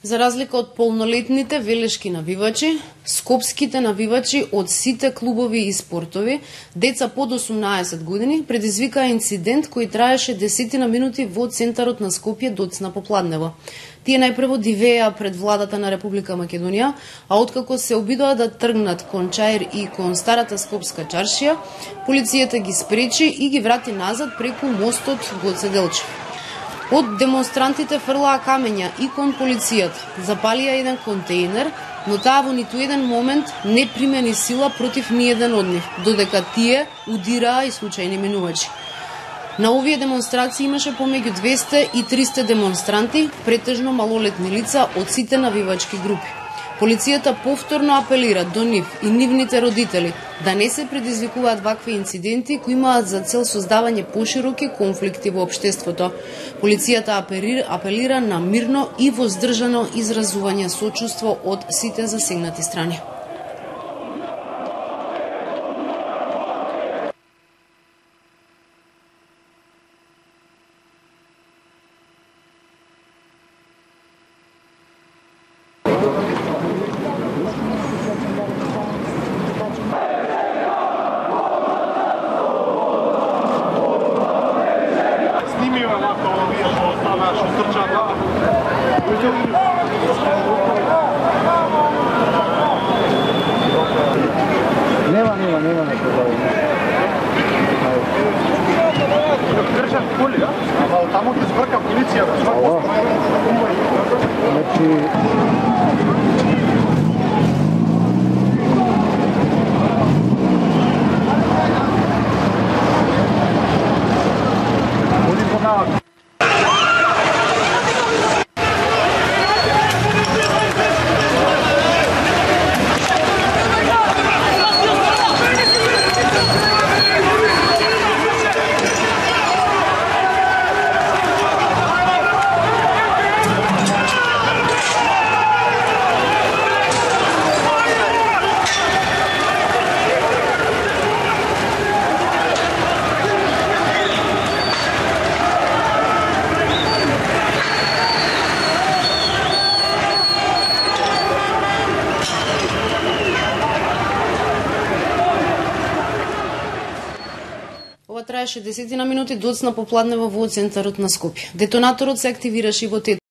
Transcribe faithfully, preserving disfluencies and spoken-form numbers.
За разлика од полнолетните велешки навивачи, скопските навивачи од сите клубови и спортови, деца под осумнаесет години, предизвикаа инцидент кој траеше десетина минути во центарот на Скопје доцна попладнево. Тие најпрво дивеа пред владата на Република Македонија, а откако се обидоа да тргнат кон Чаир и кон старата скопска чаршија, полицијата ги спречи и ги врати назад преку мостот Гоце Делчев. Од демонстрантите фрлаа камења и кон полицијата, запалија еден контејнер, но таа во ниту еден момент не примени сила против ниеден од нив, додека тие удираа и случајни минувачи. На овие демонстрации имаше помеѓу двесте и триста демонстранти, претежно малолетни лица од сите навивачки групи. Полицијата повторно апелира до нив и нивните родители да не се предизвикуваат вакви инциденти кои имаат за цел создавање пошироки конфликти во општеството. Полицијата апелира на мирно и воздржано изразување сочувство од сите засегнати страни. Нема, нема, нема на продавање. Држат коли, а? Ама таму ги збрка полицијата. Значи... Они помагат. Ова траеше десетина минути доцна попладнево во центарот на Скопје. Детонаторот се активираше и во